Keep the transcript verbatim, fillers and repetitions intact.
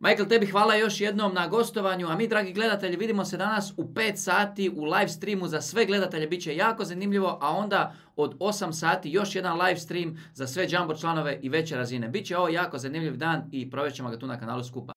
Michael, tebi hvala još jednom na gostovanju, a mi, dragi gledatelji, vidimo se danas u pet sati u live streamu za sve gledatelje, bit će jako zanimljivo, a onda od osam sati još jedan live stream za sve Jumbo članove i veće razine. Biće ovo jako zanimljiv dan i provest ćemo ga tu na kanalu skupa.